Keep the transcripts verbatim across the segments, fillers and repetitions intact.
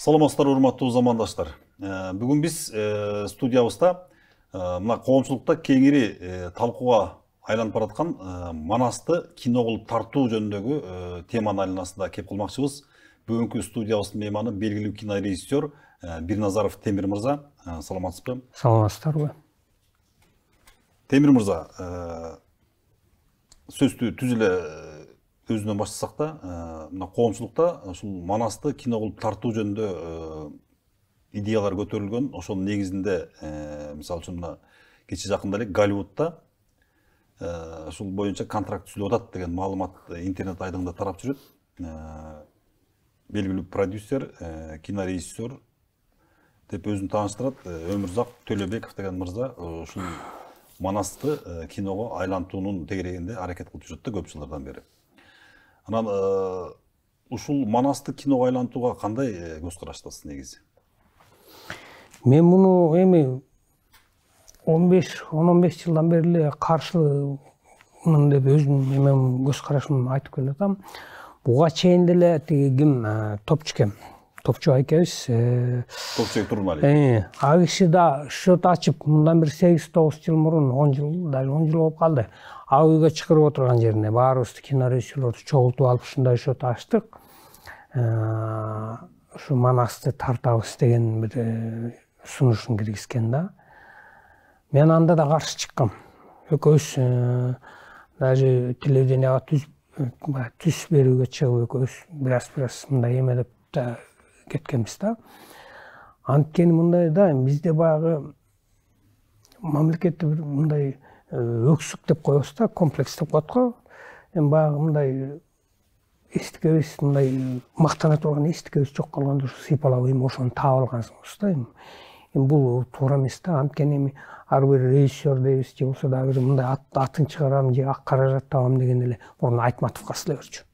Саламатсыздар, урматтуу замандаштар. Бүгүн биз студиябызда мына коомчулукта кеңири талкууга айланып бараткан Манасты кино кылып тартуу жөнүндөгү теманын айланасында кеп калмакчыбыз. Бүгүнкү студиябыздын мейманы белгилүү кинорежиссер Бирназаров Темир мырза. Саламатсызбы? Саламатсыздарбы? Темир мырза, сөздү түз эле өзүнөн баштасак да, мына коомчулукта ушул Манасты кино кылып тартуу жөнүндө идеялар көтөрүлгөн. Ошонун негизинде, мисалы үчүн мына кече жакында эле Голливудда ушул боюнча контракт түзүлүп атат деген маалымат интернет айдыңында тарап жүрөт. Белгилүү продюсер, кинорежиссер деп өзүн тааныштырат. Өмүрзак Төлөбеков деген мырза ушул Манасты киного айлантуунун тегерегинде аракет кылып жүрөт да көп жылдардан бери. Анан ушул Манасты киного айлантууга кандай көз караштасыз негизи? Мен муну эми он беш он беш жылдан бери эле каршымын деп өзүм эми көз карашымды айтып келатам. Буга чейин деле тиги ким Топчу экен. Топчу экебиз. Топчу Турмали. А киши да счет ачып, мындан бир сегиз тогуз жыл мурун, он жыл, даже он жыл болуп калды. А үйгө чакырып отурган жерине баарыбызды кинорежиссерлорду чогултуп алып ушундай счет ачтык. Ушу Манасты тартабыз деген бир сунушун киргизген да. Мен анда да каршы чыккам. Экөөбүз даже телевиденияга түз түз берүүгө чыгып экөөбүз бираз-бираз мындай эмелеп да кеткенбиз да. Анткени мындай да, бизде баягы мамлекетте бир мындай өксүк деп коебуз да, комплекс деп коет го. Эми баягы мындай эстикебиз, мындай мактана турган эстикебиз жок калганда ушу сыйпалап эми ошону таап алгансыңыз да. Эми бул туура эмес да. Анткени эми ар бир режиссер дейбиз, же болсо дагы бир мындай атын чыгарам, же ак каражат табам деген эле мурун Айтматовго сылай берчү.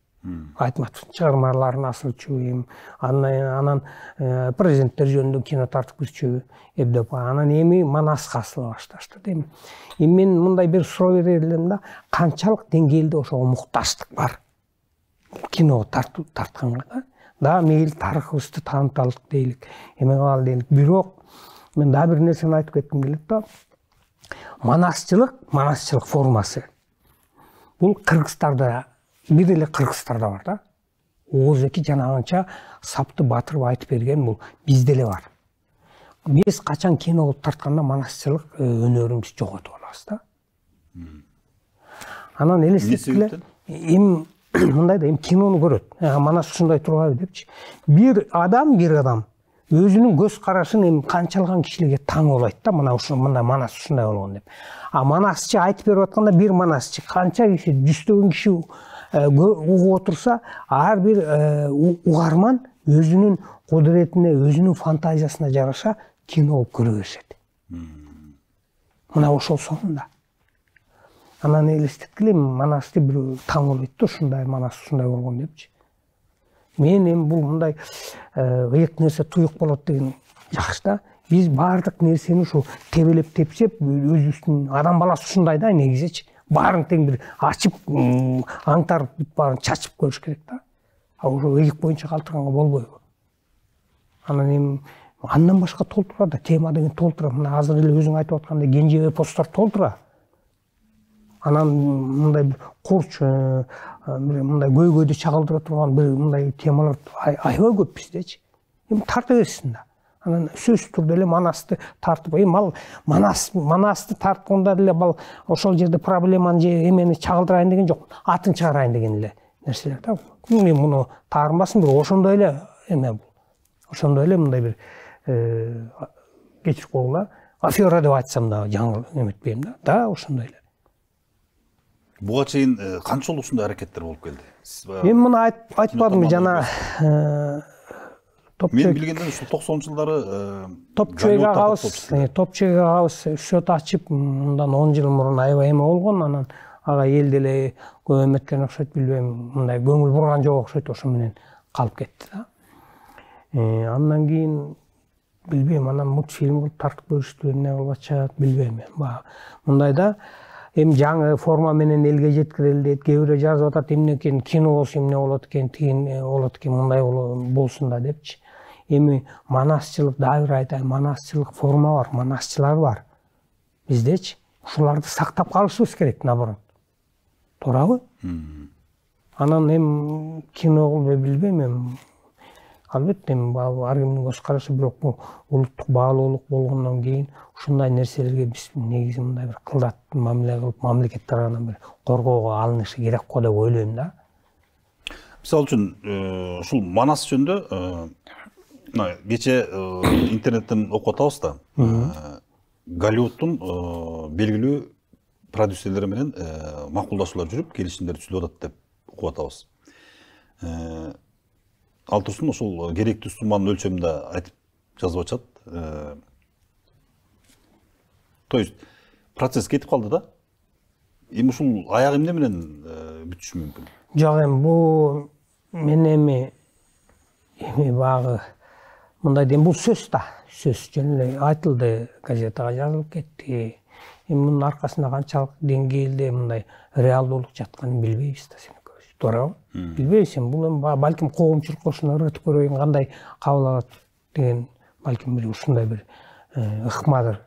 Айтматовдун чыгармаларын асырчу, эми анан президенттер жөнүндө кино тартып кирчү, эбдеп анан эми Манаска асыла башташты. Эми мен мындай бир суроо берер элем да, канчалык деңгээлде ошого мукташтык бар киного тартуу тартканга да. Да мейли тарыхыбызды тааныталык дейлик, эме кылалы дейлик. Бирок мен дагы бир нерсени айтып кетким келет да. Манасчылык, манасчылык формасы бул Кыргызстанда, бир эле Кыргызстанда бар да. Оозеки жанагынча сапты батырып айтып берген бул бизде эле бар. Биз качан кино кылып тартканда манасчылык өнөрүбүз жоготуп алабыз да. Анан элестетип эле эми мындай да, эми кинону көрөт. Манас ушундай турбайбы депчи. Бир адам, бир адам өзүнүн көз карашын эми канчалган кишилерге таң болойт да, мына ушул мындай Манас ушундай болгон деп. А Манасчы айтып берип атканда бир Манасчы канча киши, жүздөгөн киши угуп отурса, ар бир угарман өзүнүн кудуретине, өзүнүн фантазиясына жараша кино болуп көрө беришет. Мына ошол сонунда. Анан элестеткиле Манасты бир таң болбойт да, ушундай Манас ушундай болгон депчи. Мен эми бул мындай ыйык нерсе туюк болот деген жакшы да. Биз баардык нерсени ушу тебелеп тепсеп, өзүбүздүн адам баласы ушундай да негизичи. Баарын тең бир ачып, аңтарып баарын чачып көрүш керек да. А ошо ыйык боюнча калтырганга болбойбу? Анан эми андан башка толтура да, тема деген толтура. Мына азыр эле өзүң айтып аткандай Кенжебей посттор толтура. Анан мындай курч, мындай көйгөйдү чагылдыра турган бир мындай темалар аябай көп биздечи. Эми тарта берсин да. Анан сөзсүз түрдө эле Манасты тартып, эми ал Манас Манасты тартканда деле бал ошол жерде проблеманы же эмени чагылдырайын деген жок. Атын чыгарайын деген эле нерселер да. Мен муну таарынбасын, бирок ошондой эле эме бул. Ошондой эле мындай бир кечирип койгула, афера деп айтсам да жаңы эметпейм да. Да, ошондой эле. Буга чейин канча жолу ушундай аракеттер болуп келди? Мен муну айтпадымбы жана Мен билгенден ушул токсонунчу жылдары Топчуга агабыз, Топчуга агабыз счет ачып, мындан он жыл мурун аябай эме болгон, анан ага эл деле көп эметкен окшойт, билбейм, мындай көңүл бурган жок окшойт, ошо менен калып кетти да. Андан кийин билбейм, анан мультфильм кылып тартып көрүштү, эмне кылып атышат, билбейм мен. Мындай да, эми жаңы форма менен элге жеткирели дейт, кээ бирөө жазып атат, эмне экен кино болсо эмне болот экен, тигин болот экен, мындай болсун да депчи. эми манасчылык, дагы бир айтайын, манасчылык форма бар, манасчылар бар биздечи. Ушуларды сактап калышыбыз керек, наоборот. Туурабы? Анан эми кино кылбай билбейм, эми албетте эми ар кимдин көз карашы, бирок бул улуттук баалуулук болгондон кийин ушундай нерселерге биз негизи мындай бир кылдат мамиле кылып, мамлекет тарабынан бир коргоого алынышы керек го деп ойлойм да. Мисалы үчүн ушул Манас жөнүндө мына кече интернеттен окуп атабыз да. Голливудтун белгилүү продюсерлери менен макулдашуулар жүрүп, келишимдер түзүлүп атат деп окуп атабыз. Ал турсун ошол керектүү сумманын өлчөмүндө айтып жазып атышат. То есть процесс кетип калды да. Эми ушул аягы эмне менен бүтүшү мүмкүн? Жок, эми бул мен эми эми багы мындай дейм, бул сөз да, сөз жөн эле айтылды, газетага жазылып кетти. Эми мунун аркасында канчалык деңгээлде мындай реалдуулук жатканын билбейбиз да, сен көрүш. Туурабы? Билбейбиз, эми бул эми балким коомчулукка ушуну ыргытып көрөйүн, кандай кабыл алат деген балким бир ушундай бир ыкмадыр.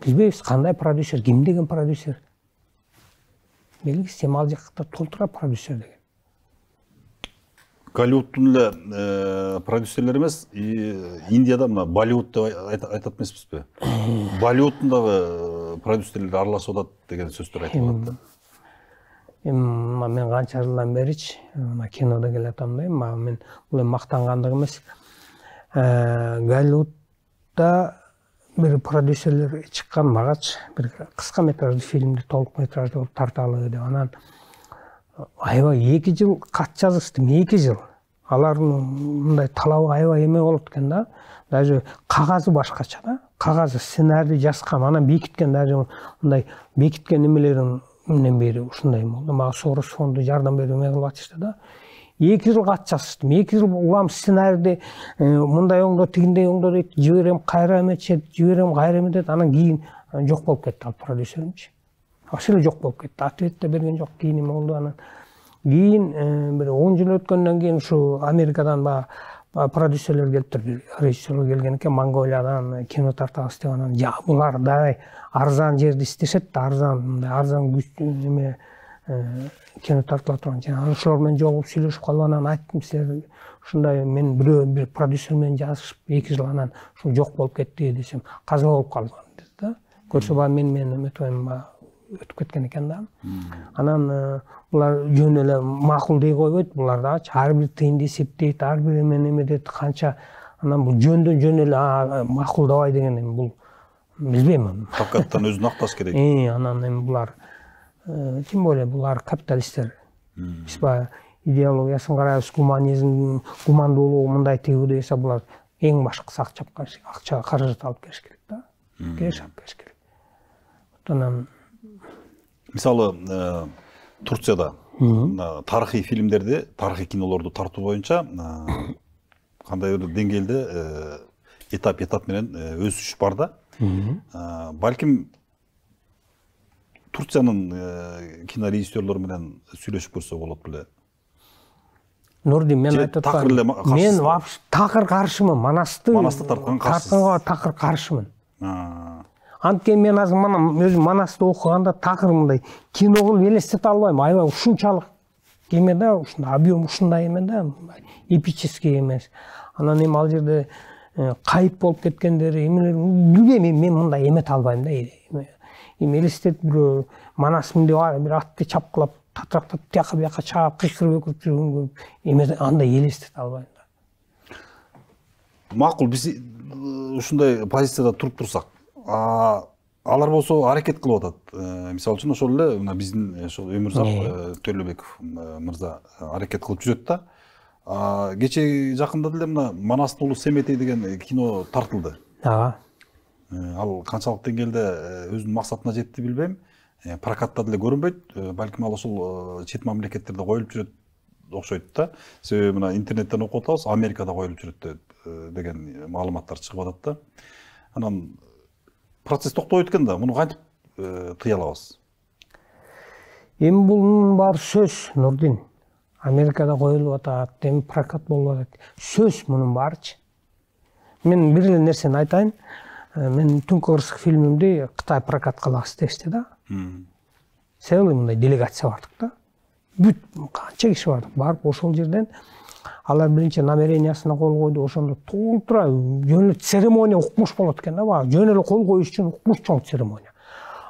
Билбейбиз, кандай продюсер, ким деген продюсер. Белгисиз, эми ал жакта толтура продюсер деген. Голливудтун эле продюсерлер эмес, Индияда мына Болливуд деп айтат эмеспизби? Болливудтун дагы продюсерлери аралашып атат деген сөздөр айтылып атат да. Эми мен канча жылдан беричи мына кинодо келе атам да, эми мен бул эми мактангандык эмес. Голливудда бир продюсерлер чыккан, магачы бир кыска метраждуу фильмди толук метраждуу кылып тарталы деп, анан аябай эки жыл кат жазыштым, эки жыл. Алардын мындай талабы аябай эме болот экен да. Даже кагазы башкача да. Кагазы, сценарий жазган, анан бекиткен, даже мындай бекиткен эмелерин менден бери ушундай болду. Мага Сорос фонду жардам берип эме кылып атышты да. эки жыл кат жазыштым. эки жыл улам сценарийди мындай оңдо, тигиндей оңдо дейт, жиберем, кайра эметишет, жиберем, кайра эметет. Анан кийин жок болуп кетти ал продюсеримчи. Вообще эле жок болуп кетти. Ответ да берген жок, кийин эме болду. Анан кийин бир он жыл өткөндөн кийин ушу Америкадан баягы продюсерлер келиптир, режиссерлер келген экен, Монголиядан кино тартабыз деп. Анан жа булар дай арзан жерди иштешет да, арзан, мындай арзан эме кино тартыла турган жер. Анан ошолор менен жолугуп сүйлөшүп калып, анан айттым, силер ушундай мен бирөө бир продюсер менен жазышып эки жыл, анан ушул жок болуп кетти десем, каза болуп калган деди да. Көрсө баягы мен мен эметпейм, өтүп кеткен экен да. Анан булар жөн эле макул дей койбойт, булар дагычы ар бир тыйынды эсептейт, ар бир эмени эметет, канча. Анан бул жөндөн жөн эле макулдабай деген эми бул билбейм. Факаттан өзүн акташ керек. Э, анан эми булар тем более булар капиталисттер. Биз баягы идеологиясын карайбыз, гуманизм, гумандуулугу мындай тигүү десе, булар эң башкысы акча акча каражат алып келиш керек да. Кеш алып келиш керек. Анан мисалы Турцияда тарыхый фильмдерди, тарыхый кинолорду тартуу боюнча кандай бир деңгээлде этап этап менен өсүш бар да. Балким Турциянын кинорежиссерлору менен сүйлөшүп көрсө болот беле. Нурдин, мен айтып атам, мен вообще такыр каршымын, Манасты Манасты тарткан каршысыз. Тартканга такыр каршымын. Анткени мен азыр мана өзүм Манасты окуганда такыр мындай кино кылып элестете албайм. Аябай ушунчалык эме да, ушундай объем ушундай эме да, эпический эмес. Анан эми ал жерде кайып болуп кеткендери, эмелер билбейм, мен мындай эмете албайм да. Эми элестетип бирөө Манас мындай бир атты чапкылап, татрактап, тияка бияка чаап, кыйкырып өкүрүп жүргөнгө эме андай элестете албайм да. Макул, биз ушундай позицияда туруп турсак, алар болсо аракет кылып атат. Мисалы үчүн ошол эле мына биздин ошол Өмүрзак Төлөбеков мырза аракет кылып жүрөт да. Кече жакында деле мына Манастын уулу Семетей деген кино тартылды. Ага. Ал канчалык деңгээлде өзүнүн максатына жетти билбейм. Прокатта деле көрүнбөйт. Балким ал ошол чет мамлекеттерде коюлуп жүрөт окшойт да. Себеби мына интернеттен окуп атабыз, Америкада коюлуп жүрөт деген маалыматтар чыгып атат да. Анан процесс токтобойт экен да, муну кантип тыя алабыз? Эми бунун баары сөз, Нурдин. Америкада коюлуп атат, эми прокат болуп атат. Сөз мунун баарычы. Мен бир эле нерсени айтайын. Мен Түнкү Кырсык фильмимди Кытай прокат кылабыз дешти да. Целый мындай делегация бардык да. Бүт канча киши бардык. Барып ошол жерден алар биринчи намерениясына кол койду, ошондо толтура жөн эле церемония укмуш болот экен да, баягы жөн эле кол коюш үчүн укмуш чоң церемония.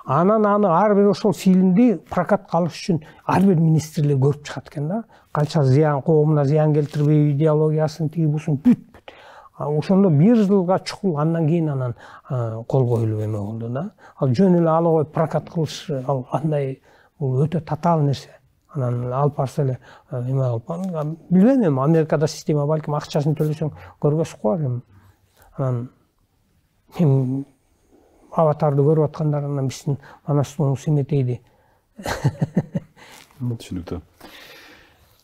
Анан аны ар бир ошол фильмди прокатка алыш үчүн ар бир министрлер көрүп чыгат экен да. Канча зыян, коомуна зыян келтирбей, идеологиясын тиги бусун бүт бүт. Ошондо бир жылга чукул андан кийин анан кол коюлуп эме болду да. Ал жөн эле ала коюп прокат кылыш ал андай бул өтө татаал нерсе. Анан алып барса эле эме кылып, билбейм эми Америкада система балким акчасын төлөсөң көрбөс го эми. Анан эми Аватарды көрүп аткандар анан биздин Манастын Семетейди. Түшүнүктүү.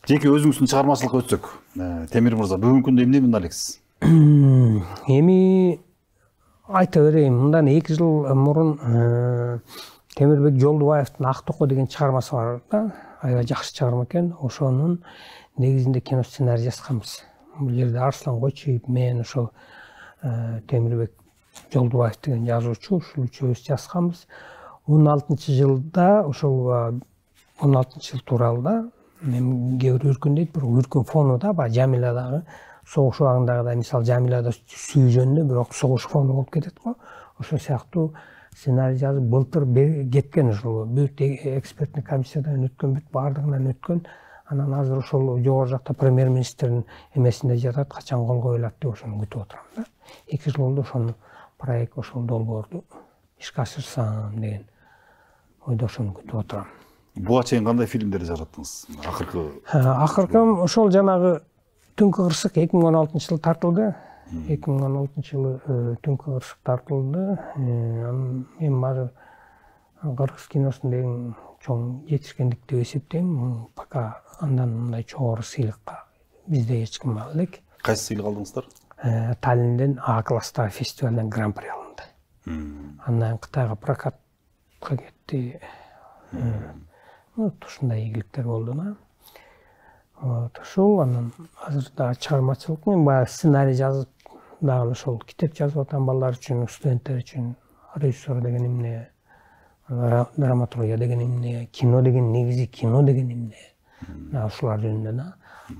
Жеке өзүңүздүн чыгармачылыкка өтсөк, Темир мырза, бүгүнкү күндө эмне менен алексиз? Эми айта берейин, мындан эки жыл мурун Темирбек Жолдубаевдин Ак токо деген чыгармасы бар да. Аябай жакшы чыгарма экен. Ошонун негизинде кино сценарий жазганбыз. Бул жерде Арслан Койчуев, мен ошол Темирбек Жолдубаев деген жазуучу, ушул үчөөбүз жазганбыз. он алтынчы жылда ошол он алтынчы жыл тууралуу да. Мен кээ бир үркүн дейт, бирок үркүн фону да, баягы Жамиладагы согуш убагындагыдай, мисалы Жамилада сүйүү жөнүндө, бирок согуш фону болуп кетет го. Ошол сыяктуу сценарий жазып былтыр кеткен, ошол бүт экспертный комиссиядан өткөн, бүт баардыгынан өткөн. Анан азыр ошол жогору жакта премьер-министрдин эмесинде жатат, качан кол коюлат деп ошону күтүп отурам да. эки жыл болду ошону проект, ошол долбоорду ишке ашырсам деген ойдо, ошону күтүп отурам. Буга чейин кандай фильмдерди жараттыңыз? Акыркы Акыркы ошол жанагы Түнкү Кырсык эки миң он алтынчы жылы тартылды. эки миң он алтынчы жылы Түнкү Кырсык тартылды. Эми азыр кыргыз киносунда эң чоң жетишкендик деп эсептейм. Пока андан мындай чогору сыйлыкка бизде эч ким ала элек. Кайсы сыйлык алдыңыздар? Таллинден А класстагы фестивалдан гран-при алынды. Андан Кытайга прокатка кетти. Вот ушундай ийгиликтер болду да. Вот ошол анан азыр да чыгармачылык менен баягы сценарий жазып, дагы ошол китеп жазып атам балдар үчүн, студенттер үчүн, режиссер деген эмне, драматургия деген эмне, кино деген негизи кино деген эмне. Да ушулар жөнүндө да.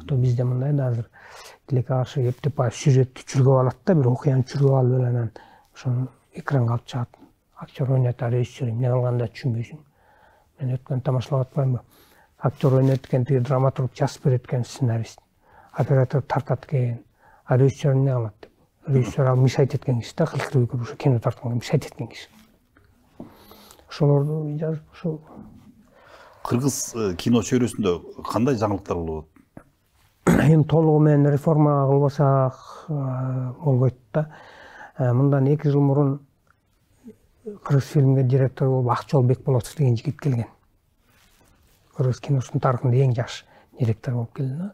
То бизде мындай да азыр тилекке каршы эптеп баягы сюжетти чүргөп алат да, бир окуяны чүргөп алып эле анан ошону экранга алып чыгат. Актер ойнотот, режиссер эмне кылганын түшүнбөйсүң. Мен өткөн тамашалап атпаймынбы? Актер ойнойт экен, тиги драматург жазып берет экен, сценарист. Оператор тартат экен. А режиссер эмне кылат деп. Режиссер ал мешать эткен киши да, кылкырып көрүп ошо кино тартканга мешать эткен киши. Ошолорду жазып, ошол кыргыз кино чөйрөсүндө кандай жаңылыктар болот? Эми толугу менен реформа кылбасак болбойт да. Мындан эки жыл мурун кыргыз фильмге директор болуп Акчол Бекболотов деген жигит келген. Кыргыз киносунун тарыхында эң жаш директор болуп келди.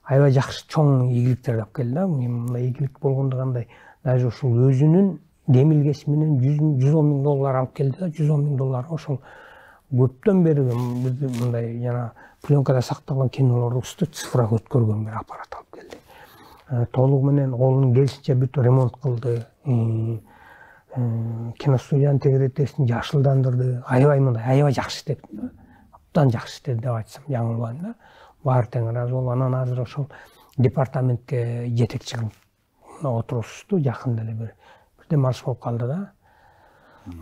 Аябай жакшы чоң ийгиликтерди алып келди. Мындай ийгилик болгондо кандай, даже ушул өзүнүн демилгеси менен жүз он миң доллар алып келди да, жүз он миң доллар. Ошол көптөн бери мындай жана пленкада сакталган кинолорду цифрага өткөргөн бир аппарат алып келди. Толугу менен колунун келишинче бүт ремонт кылды. Киностудиянын тегеретесин жашылдандырды. Аябай мындай, аябай жакшы иштеди. Абдан жакшы иштеди деп айтсам жаңылбайм да. Баары тең ыраазы болуп, анан азыр ошол департаментке жетекчи кылып отурушту, жакында эле бир бирден марш болуп калды да.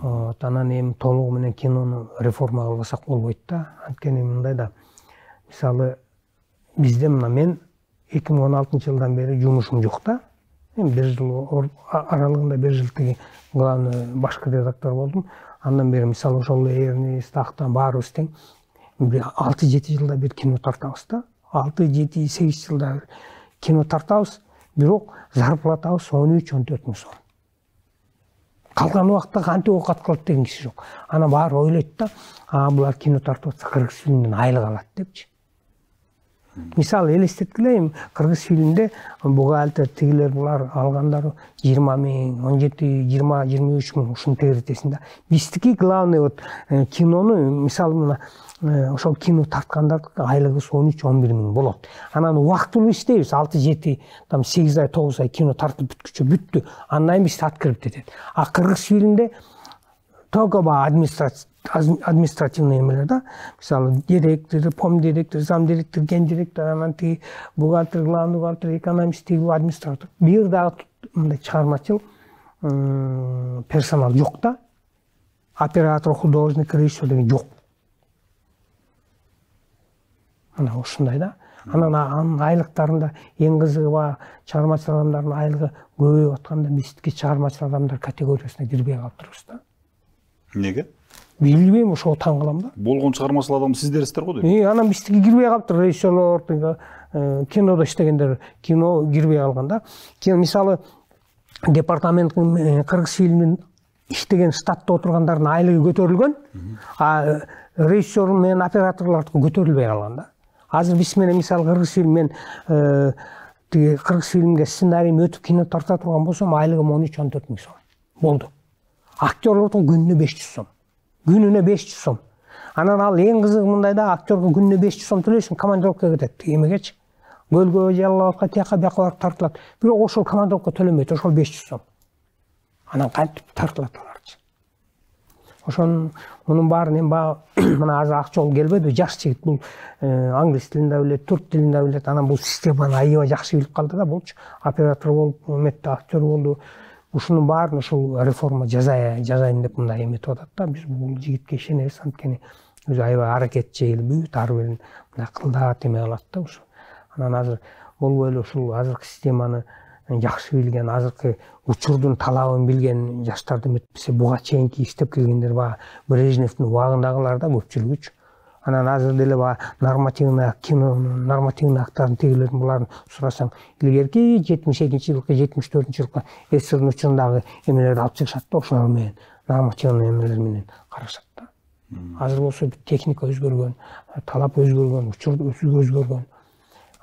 Вот анан эми толугу менен кинону реформа кылбасак болбойт да. Анткени мындай да, мисалы бизде мына мен эки миң он алтынчы жылдан бери жумушум жок да. Эми бир жыл аралыгында бир жыл тиги главный башкы редактор болдум. Андан бери мисалы ошол Эрнест Актан баарыбыз тең алты жети жылда бир кино тартабыз да. алты жети сегиз жылда кино тартабыз, бирок зарплатабыз он үч он төрт миң сом. Калган убакта кантип оокат кылат деген киши жок. Ана баары ойлойт да, а булар кино тартып атса кыргыз фильмден айлык алат депчи. Мисалы элестеткиле, кыргыз фильмде бухгалтер тигилер булар алгандары жыйырма миң, он жети, жыйырма, жыйырма үч миң ушунун тегеретесинде. Биздики главный вот кинону, мисалы мына ошол кино тарткандардын айлыгыбыз он үч он бир миң болот. Анан убактылуу иштейбиз, алты жети там сегиз ай тогуз ай кино тартып бүткүчө бүттү. Андан кийин биз открыт кетет. А кыргыз фильмде только административный эмелер да. Мисалы директор, пом директор, зам директор, ген директор, анан тиги бухгалтер, главный бухгалтер, экономист, тиги администратор. Бир дагы мындай чыгармачыл персонал жок да. Оператор, художник, режиссер деген жок. Ана ушундай да. Анан анын айлыктарында эң кызыгы ба чыгармачыл адамдардын айлыгы көбөйүп атканда бизки чыгармачыл адамдар категориясына кирбей калыптырбыз да. Неге? Билбейм, ошого таң калам да. Болгон чыгармачыл адам сиздерсиздер го дейм. И анан биздики кирбей калыптыр, режиссерлор, кинодо иштегендер кино кирбей калган да. Кийин мисалы департаменттин кыргыз фильмин иштеген штатта отургандардын айлыгы көтөрүлгөн, а режиссер менен операторлордуку көтөрүлбөй калган да. Азыр биз менен мисалы кыргыз фильм мен тиги кыргыз фильмге сценарийим өтүп кино тарта турган болсом, айлыгым он үч он төрт миң сом болду. Актерлордун күнүнө беш жүз сом. Күнүнө беш жүз сом. Анан ал эң кызыгы мындай да, актерге күнүнө беш жүз сом төлөйсүң, командировкага кетет. Эмегечи? Көлгө, Жалал-Абадка, тияка бияка барып тартылат. Бирок ошол командировка төлөмөйт, ошол беш жүз сом. Анан кантип тартылат аларчы? Ошонун мунун баарын эми мына азыр ак жол келбеди, жаш жигит бул англис тилин да билет, турк тилин да билет. Анан бул системаны аябай жакшы билип калды да, булчу оператор болуп, эметте актер болду. Ушунун баарын ушул реформа жазайын, жазайын деп мындай эметип атат да. Биз бул жигитке ишенебиз, анткени өзү аябай аракетчил, бүт ар бирин мындай кылдат эме кылат да ушу. Анан азыр болбой эле ушул азыркы системаны жакшы билген, азыркы учурдун талабын билген жаштарды эметпесе, буга чейинки иштеп келгендер баягы Брежневдин убагындагылар да көпчүлүгүчү. Анан азыр деле баягы нормативный кино, нормативный актарын тегилердин буларын сурасаң, илгерки жетимиш экинчи жылкы, жетимиш төртүнчү жылкы СССРдин учурундагы эмелерди алып чыгышат да, ошолор менен нормативный эмелер менен карашат да. Азыр болсо техника өзгөргөн, талап өзгөргөн, учур өзгөргөн.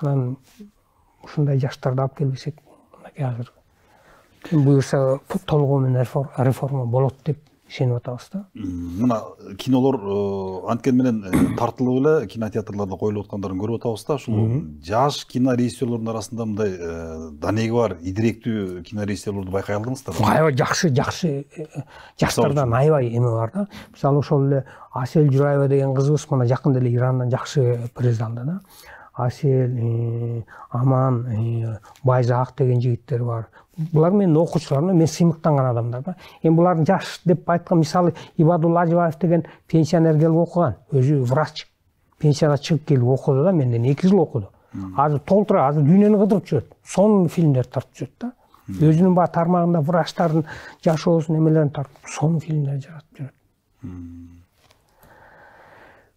Анан ушундай жаштарды алып келбесек, азыр буюрса толугу менен реформа болот деп ишенип атабыз да. Мына кинолор анткен менен тартылып эле кинотеатрларда коюлуп аткандарын көрүп атабыз да. Ушул жаш кинорежиссерлордун арасында мындай данеги бар, идиректүү кинорежиссерлорду байкай алдыңыздар? Аябай жакшы, жакшы жаштардан аябай эме бар да. Мисалы ошол эле Асель Жураева деген кызыбыз мына жакында эле Ирандан жакшы приз алды да. Асель, Аман, Байзак деген жигиттер бар. Булар менин окуучуларым, мен сыймыктанган адамдар да. Эми булардын жаш деп айткан мисалы Ибадулла Ажыбаев деген пенсионер келип окуган, өзү врач. Пенсияга чыгып келип окуду да, менден эки жыл окуду. Азыр толтура, азыр дүйнөнү кыдырып жүрөт. Сонун фильмдер тартып жүрөт да. Өзүнүн баа тармагында врачтардын жашоосун эмелерин тартып, сонун фильмдер жаратып жүрөт.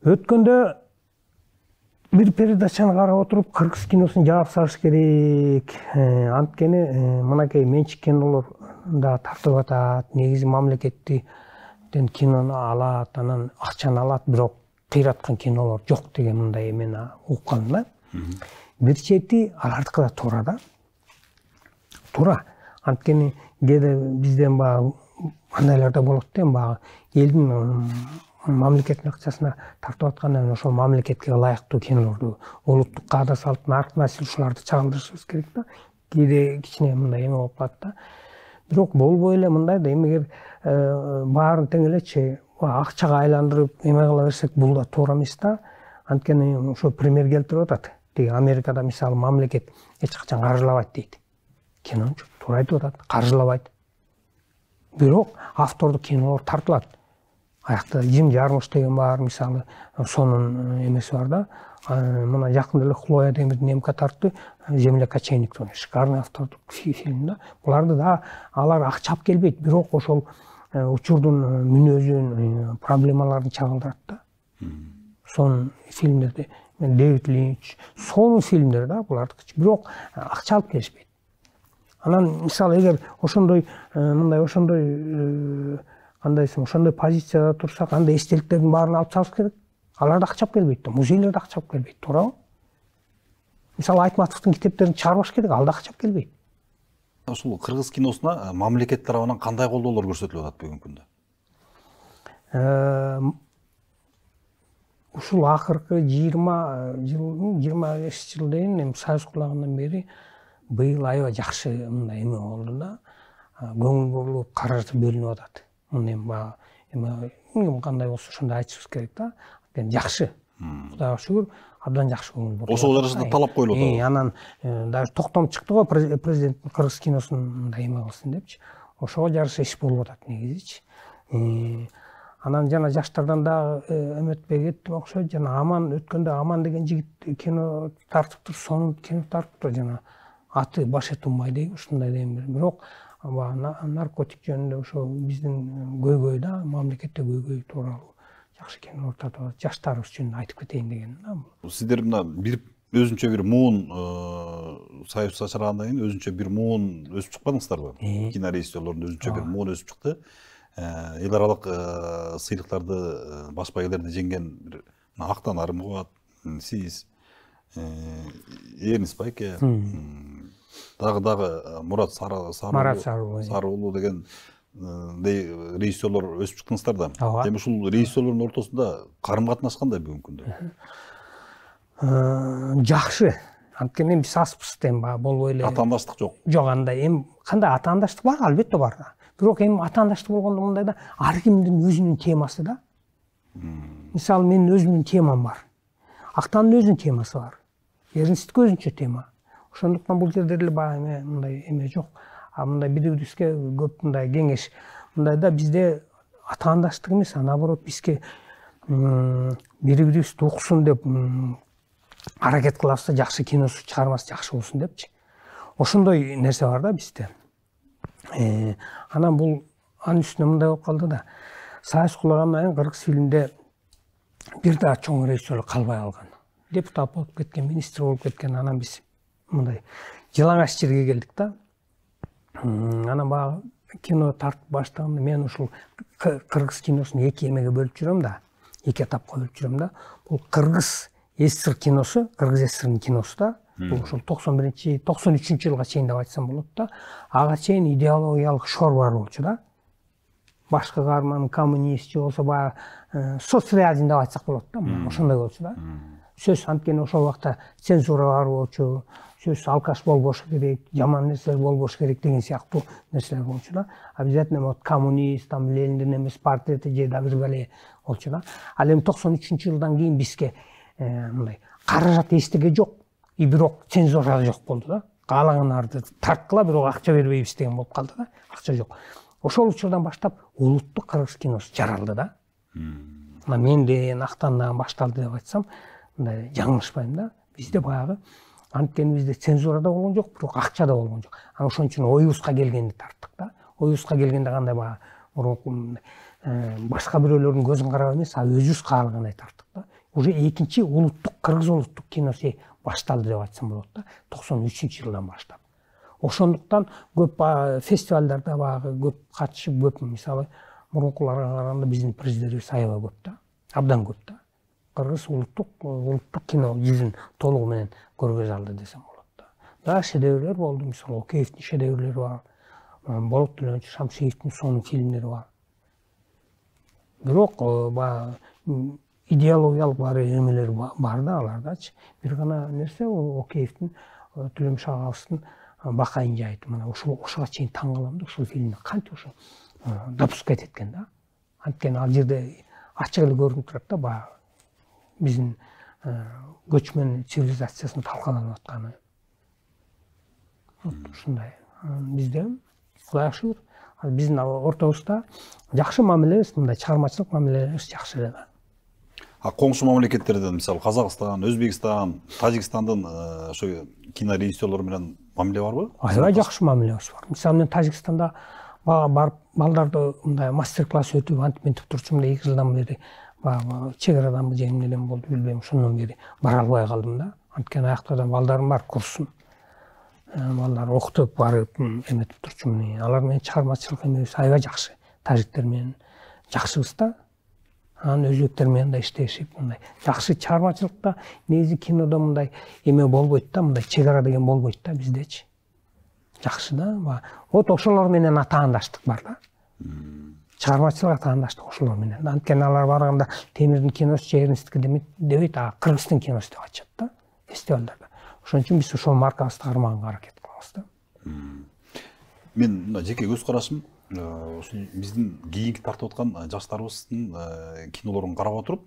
Өткөндө бир передачаны карап отуруп, кыргыз киносун жаап салыш керек. Анткени мынакей менчик кинолорда тартып атат, негизи мамлекеттен кинону алат, анан акчаны алат, бирок кыйраткан кинолор жок деген мындай эмени уккан да. Бир чети алардыкы да туура да. Туура. Анткени кээде бизден баягы андайлар да болот да, баягы элдин мамлекеттин акчасына тартып аткандан ошол мамлекетке ылайыктуу кинолорду, улуттук каада салттын артына ушуларды чагылдырышыбыз керек да. Кээде кичине мындай эме болуп калат да. Бирок болбой эле мындай да, эмегер баарын тең элечи акчага айландырып эме кыла берсек, бул да туура эмес да. Анткени ошо пример келтирип атат. Тиги Америкада мисалы мамлекет эч качан каржылабайт дейт. Кинончу туура айтып атат, каржылабайт. Бирок автордук кинолор тартылат. Аякта Жим Жармуш деген бар, мисалы, сонун эмеси бар да. Мына жакында эле Хлоя деген бир немка тартты, Земля кочевников, шикарный автордук фильм да. Буларды да алар акча алып келбейт, бирок ошол учурдун мүнөзүн, проблемаларын чагылдырат да. Сонун фильмдерди, Дэвид Линч, сонун фильмдер да булардыкы, бирок акча алып келишпейт. Анан мисалы эгер ошондой мындай ошондой кандайсың, ошондой позицияда турсак, андай эстеликтердин баарын алып чыгыш керек. Алар да акча алып келбейт да, музейлер да акча алып келбейт, туурабы? Мисалы Айтматовдун китептерин чыгарбаш керек, ал да акча алып келбейт. Ушул кыргыз киносуна мамлекет тарабынан кандай колдоолор көрсөтүлүп атат бүгүнкү күндө? ушул акыркы жыйырма жылдын жыйырма беш жыл дейин эми Союз кулагандан бери быйыл аябай жакшы мындай эме болду да, көңүл бурулуп каражат бөлүнүп атат. Мына эми баягы эме ким кандай болсо ошондой айтышыбыз керек да. Анткени жакшы. Кудайга шүгүр, абдан жакшы көңүл бурулуп. Ошол жарашында талап коюлуп атат. Анан даже токтом чыкты го, президенттин кыргыз киносун мындай эме кылсын депчи. Ошого жараша иш болуп атат негизичи. Анан жана жаштардан дагы эметпей кеттим окшойт. Жана Аман өткөндө Аман деген жигит кино тартыптыр, сонун кино тартыптыр жана аты Баше Тумбай дейм, ушундай дейм. Бирок наркотик жөнүндө ошо биздин көйгөй да, мамлекетте көйгөй тууралуу жакшы кинолор тартып атат. Жаштарыбыз үчүн айтып кетейин деген да. Сиздер мына бир өзүнчө бир муун Союз ачыргандан кийин өзүнчө бир муун өсүп чыкпадыңыздарбы? Кинорежиссерлордун өзүнчө бир муун өсүп чыкты. Эл аралык сыйлыктарды, баш байгелерди жеңген бир Актан Арымбулат, сиз, Эрнис Байке, дагы дагы Мурат Сары уулу деген режиссерлор өсүп чыктыңыздар да. Эми ушул режиссерлордун ортосунда карым катнаш кандай бүгүнкү күндө? Жакшы. Анткени биз аспыз эми баягы болбой эле. Атаандаштык жок. Жок, андай эми кандай атаандаштык бар, албетте бар да. Бирок эми атаандаштык болгондо мындай да, ар кимдин өзүнүн темасы да. Мисалы менин өзүмдүн темам бар. Актандын өзүнүн темасы бар. Эрнисттики өзүнчө тема. Ошондуктан бул жерде эле баягы эме мындай эме жок. А мындай бири-бирибизге көп мындай кеңеш. Мындай да бизде атаандаштык эмес, а наоборот бизге бири-бирибизди уксун деп аракет кылабыз да, жакшы киносу чыгармасы жакшы болсун депчи. Ошондой нерсе бар да бизде. Анан бул анын үстүнө мындай болуп калды да. Союз кулагандан кийин кыргыз фильмде бир да чоң режиссер калбай калган. Депутат болуп кеткен, министр болуп кеткен. Анан биз мындай жылаңач жерге келдик да. Анан баягы кино тартып баштаганда мен ушул кыргыз киносун эки эмеге бөлүп жүрөм да. Эки этапка бөлүп жүрөм да. Бул кыргыз СССР киносу, кыргыз СССРдин киносу да. Бул ушул токсон биринчи, токсон үчүнчү жылга чейин деп айтсам болот да. Ага чейин идеологиялык шор бар болчу да. Башкы каарман коммунист же болсо баягы соцреализм деп айтсак болот да. Ошондой болчу да. Сөз анткени ошол убакта цензура бар болчу. Сөз алкаш болбош керек, жаман нерселер болбош керек деген сыяктуу нерселер болчу да. Обязательно вот коммунист, там Лениндин эмес портрети же да бир бале болчу да. Ал эми токсон үчүнчү жылдан кийин бизге мындай каражат эчтеге жок. И бирок цензура жок болду да. Каалаганарды тарткыла, бирок акча бербейбиз деген болуп калды да. Акча жок. Ошол учурдан баштап улуттук кыргыз киносу жаралды да. Мына менден Актандан башталды деп айтсам, мындай жаңылышпайм да. Бизде баягы анткени бизде цензура да болгон жок, бирок акча да болгон жок. Анан ошон үчүн оюбузга келгенди тарттык да. Оюбузга келгенде кандай баягы мурунку башка бирөөлөрдүн көзүн карап эмес, а өзүбүз каалагандай тарттык да. Уже экинчи улуттук кыргыз улуттук киносу башталды деп айтсам болот да. токсон үчүнчү жылдан баштап. Ошондуктан көп фестивалдарда баягы көп катышып, көп мисалы мурункуларга караганда биздин призлерибиз аябай көп да. Абдан көп да. Кыргыз улуттук улуттук кино жүзүн толугу менен көргөзө алды десем болот да. Да, шедеврлер болду, мисалы Океевдин шедеврлери бар. Болот Төлөнчү Шамшиевдин сонун фильмдери бар. Бирок баягы идеологиялык бар эмелер бар да алардачы. Бир гана нерсе Океевдин Төлөмүш агабыздын Бакайын жайыты. Мына ушул ошого чейин таң калам да, ушул фильмди кантип ошо допускать эткен да. Анткени ал жерде ачык эле көрүнүп турат да, баягы биздин көчмөн цивилизациясынын талкаланып атканы. Ушундай. Бизде Кудайга шүгүр, биздин ортобузда жакшы мамилебиз, мындай чыгармачылык мамилебиз жакшы эле. А коңшу мамлекеттерден, мисалы Казакстан, Өзбекстан, Тажикстандын ошо кинорежиссерлору менен мамиле барбы? Аябай жакшы мамилебиз бар. Мисалы мен Тажикстанда барып балдарды мындай мастер-класс өтүп, антип мынтип турчумун да, эки жылдан бери баягы чек араданбы же эмнеден болду билбейм, ошондон бери бара албай калдым да. Анткени аяктардан балдарым бар, курсун. Балдар окутуп барып эметип турчумун. Алар менен чыгармачылык эмебиз аябай жакшы. Тажиктер менен жакшыбыз да. Анан өзбектер менен да иштешип, мындай жакшы чыгармачылыкта негизи кинодо мындай эме болбойт да, мындай чек ара деген болбойт да биздечи. Жакшы да. Вот ошолор менен атаандаштык бар да. чыгармачылыкка таандаштык ошолор менен. Анткени алар барганда Темирдин киносу Чернистики дебейт, а Кыргыздын киносу деп айтышат да фестивалдарда. Ошон үчүн биз ошол маркабызды кармаганга аракет кылабыз да. Мен мына жеке көз карашым ушул биздин кийинки тартып аткан жаштарыбыздын кинолорун карап отуруп,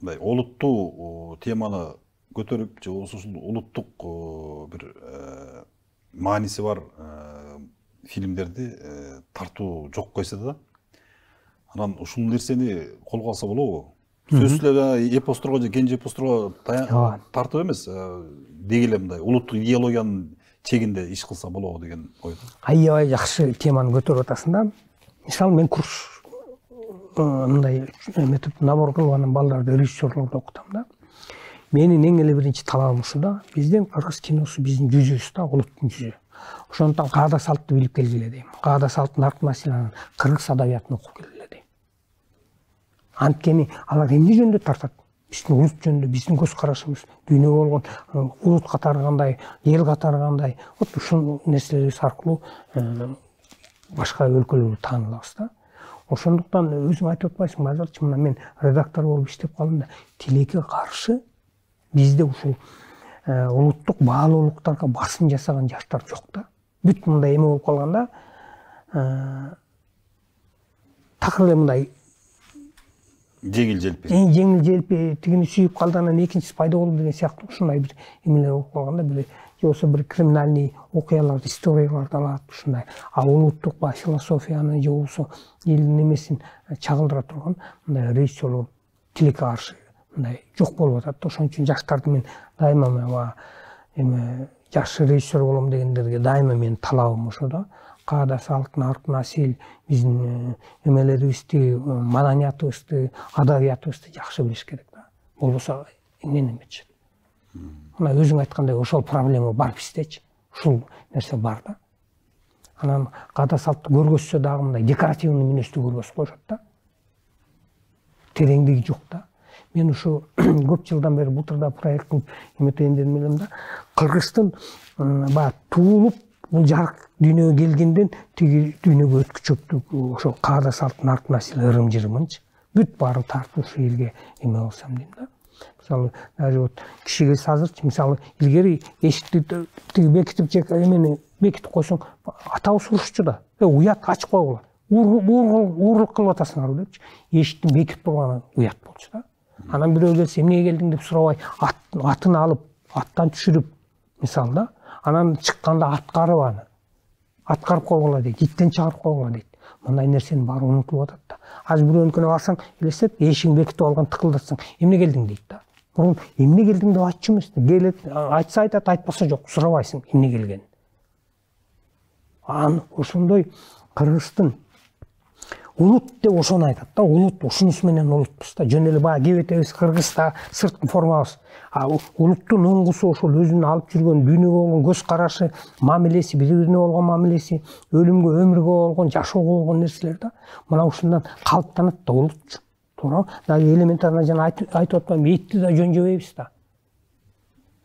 мындай олуттуу теманы көтөрүп, же болбосо ушул улуттук бир мааниси бар фильмдерди тартуу жок койсо да, анан ушул нерсени колго алса болобу? Сөзсүз эле эпосторго же кенже эпосторго тартып эмес, деги эле мындай улуттук идеологиянын чегинде иш кылса болобу деген ойдо. Аябай жакшы теманы көтөрүп атасың да. Мисалы мен курс мындай эметип набор кылып анан балдарды режиссерлорду окутам да. Менин эң эле биринчи талабым ушу да. Биздин кыргыз киносу биздин жүзүбүз да, улуттун жүзү. Ошондуктан каада салтты билип келгиле дейм. Каада салттын аркы маселени кыргыз адабиятын окуп келгиле дейм. Анткени алар эмне жөнүндө тартат? Биздин улут жөнүндө, биздин көз карашыбыз, дүйнөгө болгон улут катары кандай, эл катары кандай, вот ушул нерселерибиз аркылуу башка өлкөлөргө таанылабыз да. Ошондуктан өзүң айтып атпайсыңбы, азырчы мына мен редактор болуп иштеп калдым да, тилекке каршы бизде ушул улуттук баалуулуктарга басым жасаган жаштар жок да. Бүт мындай эме болуп калганда, такыр эле мындай жеңил желпи. Жеңил желпи тигини сүйүп калды, анан экинчиси пайда болду деген сыяктуу ушундай бир эмелер болуп калганда, бир же болбосо бир криминальный окуяларды, историяларды алат ушундай. А улуттук ба философияны же болбосо элдин эмесин чагылдыра турган мындай режиссерлор тилекке каршы мындай жок болуп атат да. Ошон үчүн жаштарды мен дайыма эме жакшы режиссер болом дегендерге дайыма менин талабым ошо да. Каада салттын аркы насил биздин эмелерибизди, маданиятыбызды, адабиятыбызды жакшы билиш керек да. Болбосо эмнени эметишет. Мына өзүң айткандай ошол проблема бар биздечи. Ушул нерсе бар да. Анан каада салтты көргөзсө дагы мындай декоративный мүнөздү көргөзүп коюшат да. Тереңдиги жок да. Мен ушу көп жылдан бери Бутырда проект кылып эметейин дедим элем да. Кыргыздын баягы туулуп бул жарык дүйнөгө келгенден тиги дүйнөгө өткүчөктүк ошол каада салттын аркы насил ырым-жырымынчы бүт баарын тартып ушу элге эме болсом дейм да. Мисалы, даже вот киши келсе азырчы, мисалы, илгери эшикти тиги бекитип же эмени бекитип койсоң, атабыз урушчу да. Э, уят ачып койгула. Уурлук кылып атасыңарбы депчи. Эшиктин бекитип койгону уят болчу да. Анан бирөө келсе, эмнеге келдиң деп сурабай, атын алып, аттан түшүрүп, мисалы да, анан чыкканда аткарып аны. Аткарып койгула дейт, иттен чыгарып койгула дейт. Мындай нерсенин баары унутулуп атат да. Азыр бирөөнүкүнө барсаң, элестет, эшигин бекитип алган тыкылдатсаң, эмне келдиң дейт да. Мурун эмне келдиң деп айтчу эмес. Келет, айтса айтат, айтпаса жок, сурабайсың эмне келгенин. Ан ошондой Кыргыздын улут деп ошону айтат да. Улут ушунусу менен улутпуз да. Жөн эле баягы кебетебиз кыргыз да, сырткы формабыз. А улуттун оңгусу ошол өзүнүн алып жүргөн дүйнөгө болгон көз карашы, мамилеси, бири-бирине болгон мамилеси, өлүмгө, өмүргө болгон, жашоого болгон нерселер да. Мына ушундан калыптанат да улутчу. Туура. Дагы элементарно жана айтып атпаймынбы, этти да жөн жебейбиз да.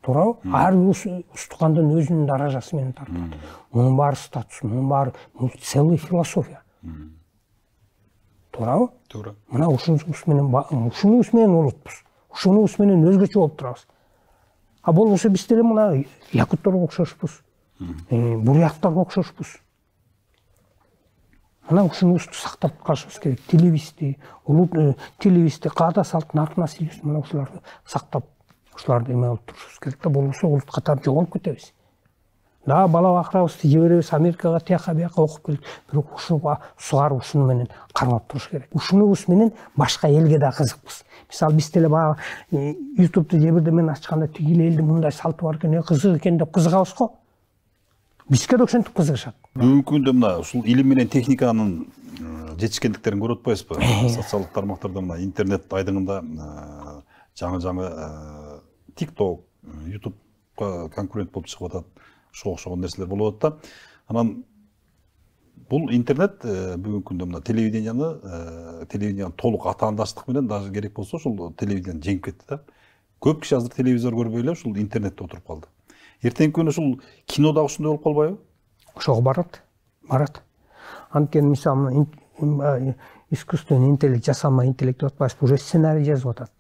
Туура. Ар бир устукандын өзүнүн даражасы менен тартат. Мунун баары статус, мунун баары целый философия. Туура. Туура. Мына ушунубуз менен ушунубуз менен улутпуз. Ушунубуз менен өзгөчө болуп турабыз. А болбосо биз деле мына якутторго окшошпуз. Буряттарга окшошпуз. Мына ушунубузду сактап калышыбыз керек. Тилибизди, улут тилибизди, каада салттын аркы насилибизди мына ушуларды сактап, ушуларды эме кылып турушубуз керек да. Болбосо улут катары жоголуп кетебиз. Да, бала бакырабызды жиберебиз Америкага, тияка бияка окуп келип, бирок ушуга сугарып ушуну менен кармап туруш керек. Ушунубуз менен башка элге да кызыкпыз. Мисалы, биз деле баягы ютубду же бирде мен ачканда тиги элдин мындай салты бар экен, кызык экен деп кызыгабыз го. Бизге да ошентип кызыгышат. Бүгүнкү күндө мына ушул илим менен техниканын жетишкендиктерин көрүп атпайсызбы? Социалдык тармактарда мына интернет айдыңында жаңы-жаңы TikTok, YouTubeга конкурент болуп чыгып атат. Ошого окшогон нерселер болуп атат да. Анан бул интернет бүгүнкү күндө мына телевиденияны, телевиденияны толук атаандаштык менен даже керек болсо ошол телевидение жеңип кетти да. Көп киши азыр телевизор көрбөй эле ушул интернетте отуруп калды. Эртеңки күнү ушул кино дагы ушундай болуп калбайбы? Ошого барат. барат. Анткени мисалы искусственный интеллект, жасалма интеллект деп атпайбызбы, уже сценарий жазып атат.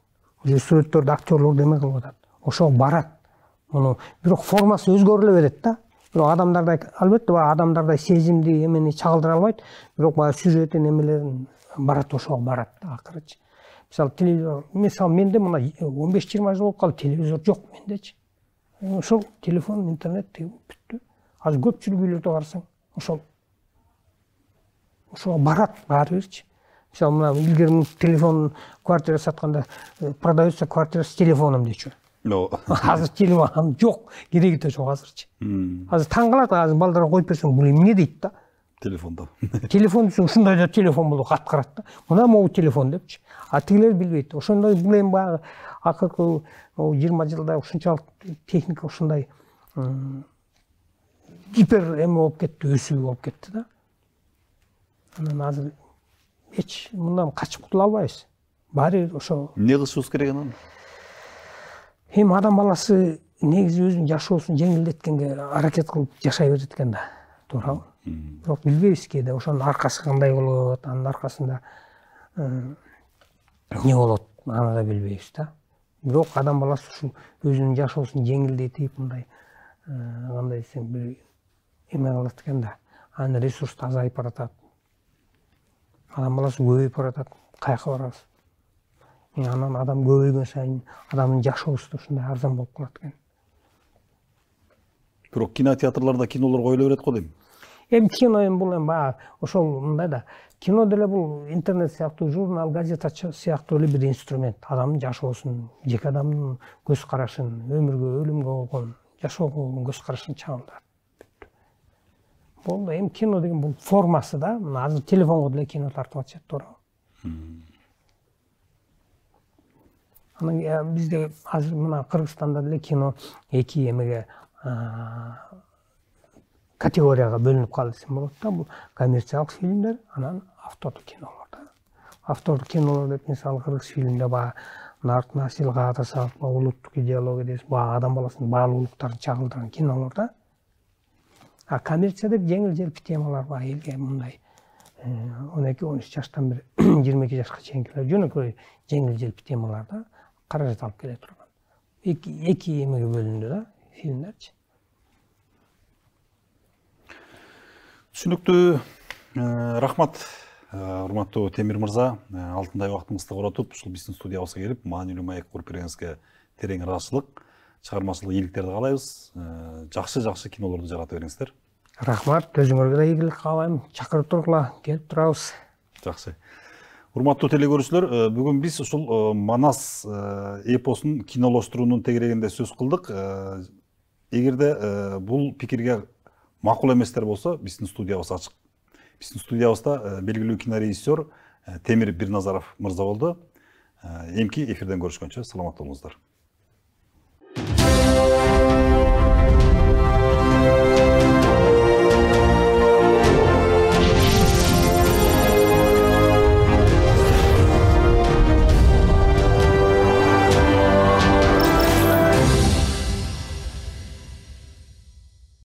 Уже сүрөттөрдү актерлор деме кылып атат. Ошого барат. Муну бирок формасы өзгөрүлө берет да. Бирок адамдардай, албетте, баягы адамдардай сезимди эмени чагылдыра албайт, бирок баягы сюжеттин эмелерин барат, ошого барат да акырычы. Мисалы телевизор, мисалы менде мына он беш жыйырма жыл болуп калды, телевизор жок мендечи. Ошол телефон, интернет бүттү. Азыр көпчүлүк үйлөрдө барсаң, ошол ошого барат баары бирчи. Мисалы мына илгери телефон квартира сатканда продается квартира с телефоном дечү. Азыр телефон жок, кереги да жок азырчы. Азыр таң калат, азыр балдарга коюп берсең, бул эмне дейт да? Телефонда. Телефон десең, ушундай да телефон болуп аткарат да. Мына могу телефон депчи. А тигилер билбейт. Ошондой бул эми баягы акыркы жыйырма жылда ушунчалык техника ушундай гипер эме болуп кетти, өсүү болуп кетти да. Анан азыр эч мындан качып кутула албайбыз. Баары ошо. Эмне кылышыбыз керек анан? Эми адам баласы негизи өзүнүн жашоосун жеңилдеткенге аракет кылып жашай берет экен да. Туурабы? Бирок билбейбиз кээде ошонун аркасы кандай болот, анын аркасында эмне болот, аны да билбейбиз да. Бирок адам баласы ушу өзүнүн жашоосун жеңилдетип, мындай кандай десем, бир эме кылат экен да. Анын ресурсу азайып баратат. Адам баласы көбөйүп баратат. Каяка барабыз? Анан адам көбөйгөн сайын адамдын жашоосу да ушундай арзан болуп калат экен. Бирок кинотеатрларда кинолор коюла берет го дейм. Эми кино эми бул эми баягы ошол мындай да. Кино деле бул интернет сыяктуу, журнал, газета сыяктуу эле бир инструмент. Адамдын жашоосун, жеке адамдын көз карашын, өмүргө, өлүмгө болгон, жашоого болгон көз карашын чагылдырат. Болду, эми кино деген бул формасы да. Мына азыр телефонго деле кино тартып атышат, туурабы? Анан бизде азыр мына Кыргызстанда деле кино эки эмеге категорияга бөлүнүп калды десем болот да. Бул коммерциялык фильмдер, анан автордук кинолор да. Автордук кинолор деп мисалы кыргыз фильминде баягы нарт насилга атасак, улуттук идеология дейбиз, баягы адам баласынын баалуулуктарын чагылдырган кинолор да. А коммерция деп жеңил-желпи темалар бар, элге мындай он эки он үч жаштан бир жыйырма эки жашка чейинкилер жөнөкөй жеңил-желпи темалар да, каражат алып келе турган. Эки эки эмеге бөлүндү да фильмдерчи. Түшүнүктүү. Рахмат, урматтуу Темир мырза. Алтындай убактыңызды коротуп, ушул биздин студиябызга келип, маанилүү маек куруп бергениңизге терең ыраазычылык, чыгармачылык ийгиликтерди каалайбыз. Жакшы-жакшы кинолорду жарата бериңиздер. Рахмат, өзүңөргө да ийгилик каалайм. Чакырып тургула, келип турабыз. Жакшы. Урматтуу телекөрүүчүлөр, бүгүн биз ушул Манас эпосун кинолоштуруунун тегерегинде сөз кылдык. Эгерде бул пикирге макул эместер болсо, биздин студиябыз ачык. Биздин студиябызда белгилүү кинорежиссер Темир Бирназаров мырза болду. Эмки эфирден көрүшкөнчө саламат болуңуздар.